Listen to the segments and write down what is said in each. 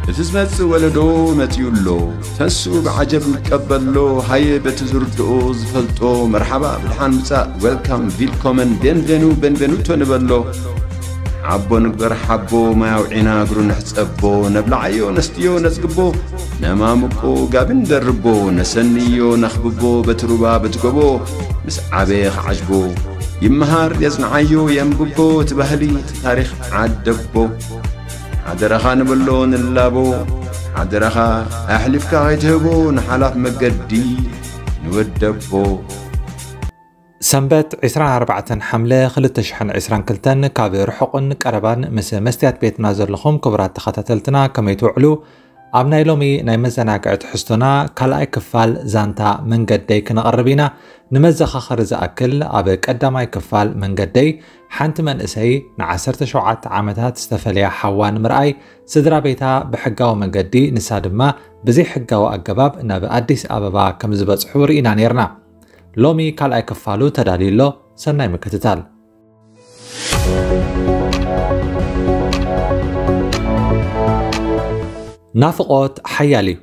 እቲ ዝመጽእ ወለዶ መጺኡ ኣሎ። ተስኡ ብዓጀብ ይቀበሎ። ሃየ በቲ ዝርድኦ ዝፈልጦ መርሓባ ብድሓን ምጻእ፣ ዌልካም፣ ቪልኮመን፣ ቤንቬኑ፣ ቤንቬኑቶ ንበሎ። ዓቦ ንግበር ሓቦ፣ ማይ ኣውዒና እግሩ ንሕጸቦ። ነብልዓዮ ነስትዮ ነጽግቦ፣ ነማምቆ ጋቢ ንደርቦ። ነሰንዮ ነኽብቦ በቲ ሩባ በቲ ጎቦ። ምስ ዓበየ ክዓጅቦ ይመሃር የጽንዓዮ የንብቦ። እቲ ባህሊ እቲ ታሪኽ ዓደቦ። ሓደራኻ ንብሎ ንላቦ። ሓደራኻ ኣሕሊፍካ ከይትህቦ ንሓላፍ መገዲ ንወደቦ። ሰንበት ዕስራን ኣርባዕተን ሓምለ ክልተ ሽሕን ዕስራን ክልተን ካብ ርሑቕን ቀረባን ምስ መስትያት ቤትና ዘለኹም ክቡራት ተኸታተልትና ከመይ ትውዕሉ? ኣብ ናይ ሎሚ ናይ መዘናግዒ ትሕዝቶና ካልኣይ ክፋል ዛንታ መንገደይ ክነቕርብ ኢና። ንመዘኻኸሪ ዝኣክል ኣብ ቀዳማይ ክፋል መንገደይ ሓንቲ መንእሰይ ንዓሰርተ ሸውዓተ ዓመታት ዝተፈለያ ሓዋ ንምርኣይ ስድራ ቤታ ብሕጋዊ መንገዲ ንሳ ድማ ብዘይሕጋዊ ኣገባብ ናብ ኣዲስ ኣበባ ከም ዝበጽሑ ርኢና ነይርና። ሎሚ ካልኣይ ክፋሉ ተዳልዩ ኣሎ። ሰናይ ምክትታል። ናፍቖት ሓያል እዩ።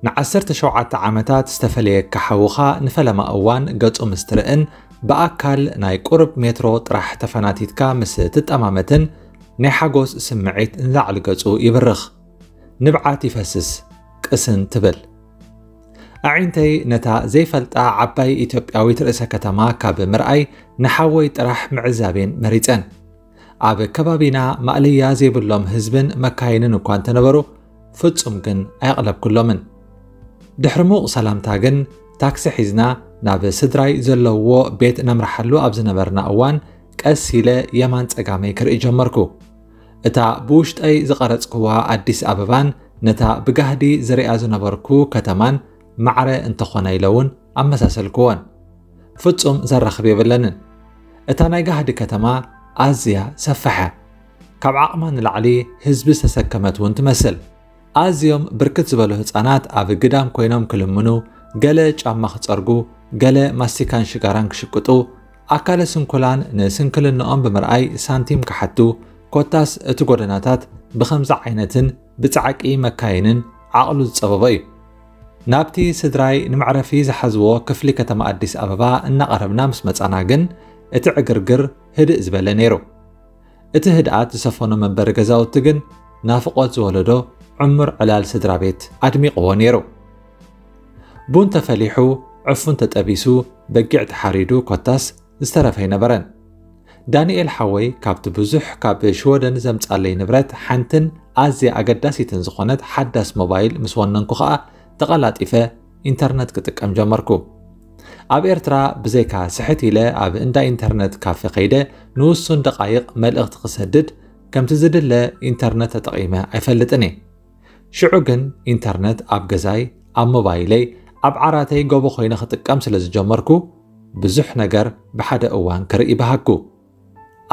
ንዓሰርተ ሸውዓተ ዓመታት ዝተፈለየካ ሓውኻ ንፈለማ እዋን ገጹ ምስ ትርእን ብኣካል ናይ ቁሩብ ሜትሮ ጥራሕ ተፈናቲትካ ምስ ትጠማመትን ናይ ሓጎስ ስምዒት ንላዕሊ ገጹ ይብርኽ። ንብዓት ይፈስስ፣ ቅስን ትብል። ኣዒንተይ ነታ ዘይፈልጣ ዓባይ ኢትዮጵያዊት ርእሰ ከተማ ካብ ምርኣይ ንሓወይ ጥራሕ ምዕዛቤን መሪጸን። ኣብ ከባቢና ማእለያ ዘይብሎም ህዝብን መካይንን እኳ እንተነበሩ ፍጹም ግን ኣየቕለብኩሎምን። ድሕሪ ምዉቕ ሰላምታ ግን ታክሲ ሒዝና ናብ ስድራይ ዘለውዎ ቤት ነምርሓሉ ኣብ ዝነበርና እዋን ቀስ ኢለ የማን ጸጋመይ ክርኢ ጀመርኩ። እታ ብውሽጠይ ዝቐረጽክዋ ኣዲስ ኣበባን ነታ ብጋህዲ ዝሪኣ ዝነበርኩ ከተማን ማዕረ እንተኾና ኢለ እውን ኣመሳሰልክወን። ፍጹም ዘራኽብ የብለንን። እታ ናይ ጋህዲ ከተማ ኣዝያ ሰፍሐ። ካብ ዓቕማ ንላዕሊ ህዝቢ ዝተሰከመት እውን ትመስል። ኣዝዮም ብርክት ዝበሉ ህጻናት ኣብ ግዳም ኮይኖም ክልምኑ፣ ገለ ጫማ ክጸርጉ፣ ገለ ማስቲካን ሽጋራን ክሽቅጡ፣ ኣካለ ስንኩላን ንስንክልንኦም ብምርኣይ ሳንቲም ክሓቱ፣ ኮታስ እቲ ጎደናታት ብኸምዚ ዓይነትን ብጻዕቂ መካይንን ዓቕሉ ዝጸበቦ እዩ። ናብቲ ስድራይ ንመዕረፊ ዝሓዝዎ ክፍሊ ከተማ ኣዲስ ኣበባ እናቐረብና ምስ መጻና ግን እቲ ዕግርግር ህድእ ዝበለ ነይሩ። እቲ ህድኣት ዝሰፈኖ መንበሪ ገዛውቲ ግን ናፍቖት ዝወለዶ ዕሙር ዕላል ስድራ ቤት ኣድሚቕዎ ነይሩ። ቡን ተፈሊሑ፣ ዕፉን ተጠቢሱ፣ በጊዕ ተሓሪዱ ኮታስ ዝተረፈ ኣይነበረን። ዳንኤል ሓወይ ካብቲ ብዙሕ ካብ ሽወደን ዘምጻለይ ንብረት ሓንትን ኣዝያ ኣገዳሲትን ዝኾነት ሓዳስ ሞባይል ምስ ወነንኩ ኸኣ ተቐላጢፈ ኢንተርነት ክጥቀም ጀመርኩ። ኣብ ኤርትራ ብዘይካ ስሕት ኢለ ኣብ እንዳ ኢንተርነት ካፌ ከይደ ንውሱን ደቓይቕ መልእኽቲ ክሰድድ ከምቲ ዝድለ ኢንተርነት ተጠቒመ ኣይፈልጥን እየ። ሽዑ ግን ኢንተርነት ኣብ ገዛይ፣ ኣብ ሞባይለይ፣ ኣብ ዓራተይ ጎቦ ኮይነ ክጥቀም ስለ ዝጀመርኩ ብዙሕ ነገር ብሓደ እዋን ክርኢ በሃግኩ።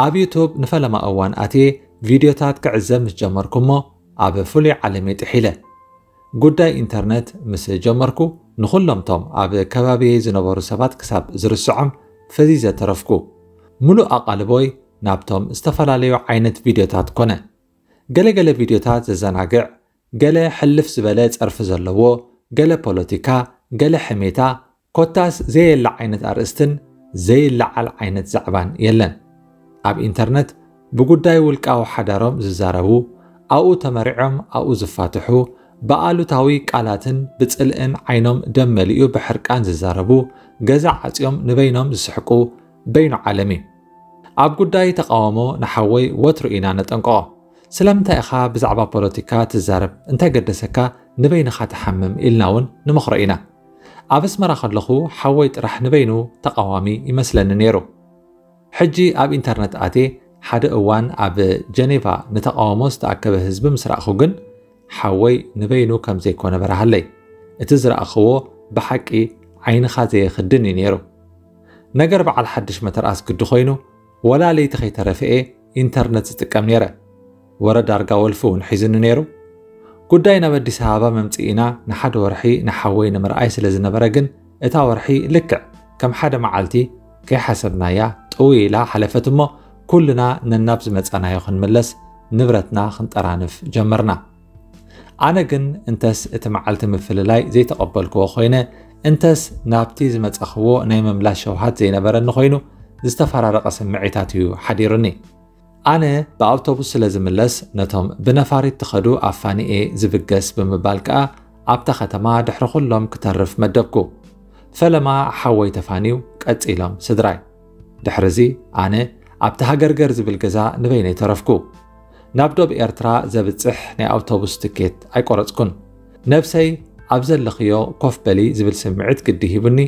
ኣብ ዩቱብ ንፈለማ እዋን ኣትየ ቪድዮታት ክዕዘብ ምስ ጀመርኩ እሞ ኣብ ፍሉይ ዓለም እየ ጥሒለ። ጉዳይ ኢንተርነት ምስ ጀመርኩ ንኹሎምቶም ኣብ ከባቢየይ ዝነበሩ ሰባት ክሳብ ዝርስዖም ፈዚዘ ተረፍኩ። ምሉእ ኣቓልቦይ ናብቶም ዝተፈላለዩ ዓይነት ቪድዮታት ኮነ። ገለገለ ቪድዮታት ዘዘናግዕ፣ ገለ ሕልፍ ዝበለ ጸርፊ ዘለዎ፣ ገለ ፖለቲካ፣ ገለ ሕሜታ፣ ኮታስ ዘየለ ዓይነት ኣርእስትን ዘይለዓል ዓይነት ዛዕባን የለን። ኣብ ኢንተርነት ብጉዳይ ውልቃዊ ሓዳሮም ዝዛረቡ፣ ኣብኡ ተመሪዖም ኣብኡ ዝፋትሑ፣ ብኣሉታዊ ቃላትን ብጽልእን ዓይኖም ደም መሊኡ ብሕርቃን ዝዛረቡ፣ ገዛ ዓጽዮም ንበይኖም ዝስሕቁ በይኑ ዓለም እዩ። ኣብ ጉዳይ ተቓውሞ ንሓወይ ወትሩ ኢና ነጠንቅቖ። ስለምንታይ ኢኻ ብዛዕባ ፖለቲካ ትዛረብ? እንታይ ገደሰካ? ንበይንኻ ትሓምም ኢልና እውን ንመኽሮ ኢና። ኣብ ኣስመራ ከለኹ ሓወይ ጥራሕ ንበይኑ ተቓዋሚ ይመስለኒ ነይሩ። ሕጂ ኣብ ኢንተርነት ኣትየ ሓደ እዋን ኣብ ጀኔቫ ንተቓውሞ ዝተኣከበ ህዝቢ ምስ ረኣኹ ግን ሓወይ ንበይኑ ከም ዘይኮነ በርሃለይ። እቲ ዝረኣኽዎ ብሓቂ ዓይንኻ ዘየኽድን እዩ ነይሩ። ነገር በዓል ሓድሽ መተርኣስ ግዲ ኮይኑ ወላ ለይቲ ከይተረፈ እየ ኢንተርነት ዝጥቀም ነይረ። ወረ ዳርጋ ወልፊ እውን ሒዝኒ ነይሩ። ጉዳይ ናብ ኣዲስ ኣበባ መምጽኢና ንሓደ ወርሒ ንሓወይ ንምርኣይ ስለ ዝነበረ ግን እታ ወርሒ ልክዕ ከም ሓደ መዓልቲ ከይሓሰብናያ ጥውይ ኢላ ሓለፈት እሞ ኩልና ነናብ ዝመጻናዮ ክንምለስ ንብረትና ክንጠራንፍ ጀመርና። ኣነ ግን እንተስ እቲ መዓልቲ ምፍልላይ ዘይተቐበልክዎ ኮይነ፣ እንተስ ናብቲ ዝመጻኽዎ ናይ ምምላስ ሸውሃት ዘይነበረኒ ኮይኑ፣ ዝተፈራረቐ ስምዒታት እዩ ሓዲሩኒ። ኣነ ብኣውቶቡስ ስለ ዝምለስ፣ ነቶም ብነፋሪት ትኸዱ ኣፋኒኤ ዝብገስ ብምባል ከኣ ኣብታ ከተማ ድሕሪ ኩሎም ክተርፍ መደብኩ። ፈለማ ሓወይ ተፋንዩ፣ ቀጺሎም ስድራይ። ድሕርዚ ኣነ ኣብቲ ሃገርገር ዝብል ገዛ ንበይነይ ተረፍኩ። ናብ ዶብ ኤርትራ ዘብጽሕ ናይ ኣውቶቡስ ትኬት ኣይቆረጽኩን። ነብሰይ ኣብ ዘለኽዮ ኮፍ በሊ ዝብል ስምዒት ግዲ ሂቡኒ፣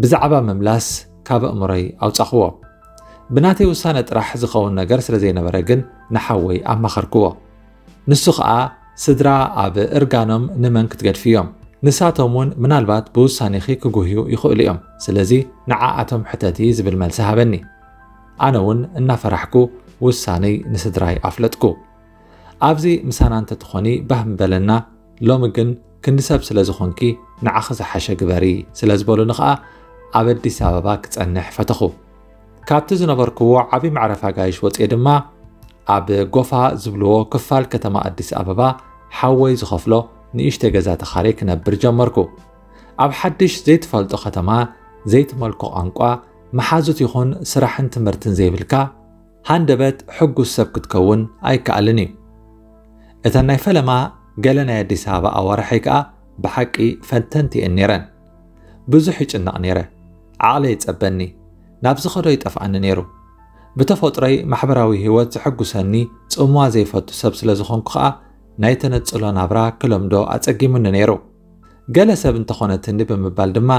ብዛዕባ ምምላስ ካብ ኣእምሮይ ኣውጻኽዎ። ብናተይ ውሳነ ጥራሕ ዝኸውን ነገር ስለ ዘይነበረ ግን ንሓወይ ኣማኸርክዎ። ንሱ ኸኣ ስድራ ኣብ እርጋኖም ንመን ክትገድፍዮም? ንሳቶም እውን ምናልባት ብውሳኔኺ ክጉህዩ ይኽእሉ እዮም። ስለዚ ንዓኣቶም ሕተቲ ዝብል መልሲ ሃበኒ። ኣነ እውን እናፈራሕኩ ውሳኔይ ንስድራይ ኣፍለጥኩ። ኣብዚ ምሳና እንተትኾኒ ባህ ምበለና፣ ሎሚ ግን ክንዲ ሰብ ስለ ዝኾንኪ ንዓኺ ዝሓሸ ግበሪ ስለ ዝበሉኒ ኸኣ ኣብ ኣዲስ ኣበባ ክጸንሕ ፈተኹ። ካብቲ ዝነበርክዎ ዓቢ መዕረፊ ኣጋይሽ ወጽኤ ድማ ኣብ ጎፋ ዝብልዎ ክፋል ከተማ ኣዲስ ኣበባ ሓወይ ዝኸፍሎ ንእሽተይ ገዛ ተኻርየ ክነብር ጀመርኩ። ኣብ ሓድሽ ዘይትፈልጦ ከተማ፣ ዘይትመልኮ ቋንቋ፣ መሓዙት ይኹን ስራሕን ትምህርትን ዘይብልካ፣ ሃንደበት ሕጉስ ሰብ ክትከውን ኣይከኣልን እዩ። እተን ናይ ፈለማ ገለ ናይ ኣዲስ ኣበባ ኣዋርሐይ ከኣ ብሓቂ ፈተንቲ እየን ነይረን። ብዙሕ ይጭነቕ ነይረ። ዓቕለይ ይጸበኒ። ናብ ዝኸዶ ይጠፍኣኒ ነይሩ። ብተፈጥሮይ ማሕበራዊ ህይወት ዘሐጉሰኒ ጽምዋ ዘይፈቱ ሰብ ስለ ዝኾንኩ ከኣ ናይ ተነጽሎ ናብራ ክለምዶ ኣጸጊሙኒ ነይሩ። ገለ ሰብ እንተኾነትኒ ብምባል ድማ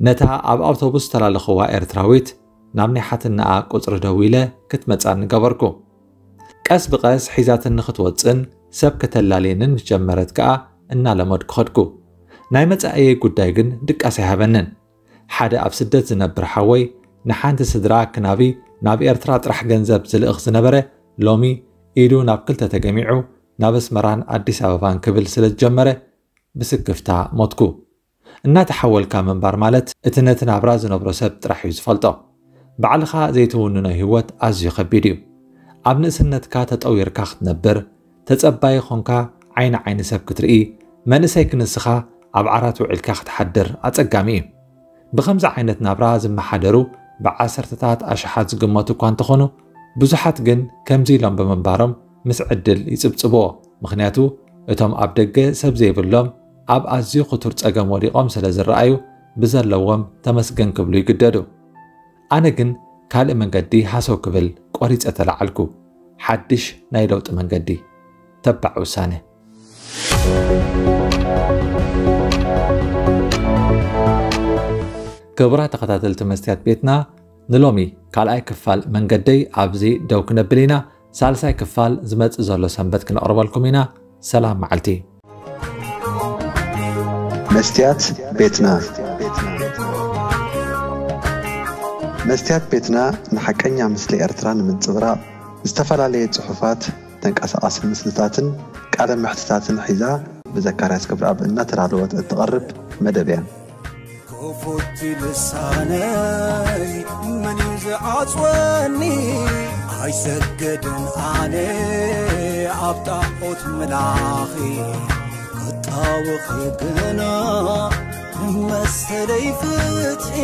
ነታ ኣብ ኣውቶቡስ ዝተላለኽዋ ኤርትራዊት ናብ ናይ ሓትነኣ ቁጽሪ ደዊለ ክትመጻኒ ገበርኩ። ቀስ ብቐስ ሒዛትኒ ክትወጽን ሰብ ከተላልየንን ምስ ጀመረት ከኣ እናለመድኩ ኸድኩ። ናይ መጻኢየይ ጉዳይ ግን ድቃስ ኣይሃበንን። ሓደ ኣብ ስደት ዝነብር ሓወይ ንሓንቲ ስድራ ክናቢ ናብ ኤርትራ ጥራሕ ገንዘብ ዝልእኽ ዝነበረ ሎሚ ኢዱ ናብ ክልተ ተገሚዑ ናብ ኣስመራን ኣዲስ ኣበባን ክብል ስለ ዝጀመረ ብስክፍታ ሞትኩ። እናተሓወልካ ምንባር ማለት እቲ ነቲ ናብራ ዝነብሮ ሰብ ጥራሕ እዩ ዝፈልጦ። ባዕልኻ ዘይትውንኖ ህይወት ኣዝዩ ከቢድ እዩ። ኣብ ንእስነትካ ተጠዊርካ ክትነብር፣ ተጸባዪ ኾንካ ዓይኒ ዓይኒ ሰብ ክትርኢ፣ መንእሰይ ክንስኻ ኣብ ዓራት ውዒልካ ክትሓድር ኣጸጋሚ እዩ። ብኸምዚ ዓይነት ናብራ ዝመሓደሩ ብዓሰርተታት ኣሽሓት ዝግመቱ እኳ እንተኾኑ፣ ብዙሓት ግን ከምዚ ኢሎም ብምንባሮም ምስ ዕድል ይጽብጽብዎ። ምኽንያቱ እቶም ኣብ ደገ ሰብ ዘይብሎም ኣብ ኣዝዩ ክቱር ጸገም ወዲቖም ስለ ዝረኣዩ ብዘለዎም ተመስገን ክብሉ ይግደዱ። ኣነ ግን ካልእ መንገዲ ሃሰው ክብል ቆሪጸ ተላዓልኩ። ሓድሽ ናይ ለውጢ መንገዲ። ተባዕ ውሳነ። ክቡራት ተኸታተልቲ መስትያት ቤትና፣ ንሎሚ ካልኣይ ክፋል መንገደይ ኣብዚ ደው ክነብል ኢና። ሳልሳይ ክፋል ዝመጽእ ዘሎ ሰንበት ክነቕርበልኩም ኢና። ሰላም መዓልቲ። መስትያት ቤትና። መስትያት ቤትና ንሓቀኛ ምስሊ ኤርትራ ንምንጽብራቕ ዝተፈላለየ ጽሑፋት፣ ተንቀሳቓሲ ምስልታትን ቃለ መሕትታትን ሒዛ ብዘካርያስ ክብረኣብ እናተዳለወት እትቐርብ መደብ እያ። ክፉት ልሳነይ መን እዩ ዝዓጽወኒ? ኣይሰግድን ኣነ ኣብ ጣዖት ምላኺ ክጣወኺ ግና መሰለይ ፍትሒ።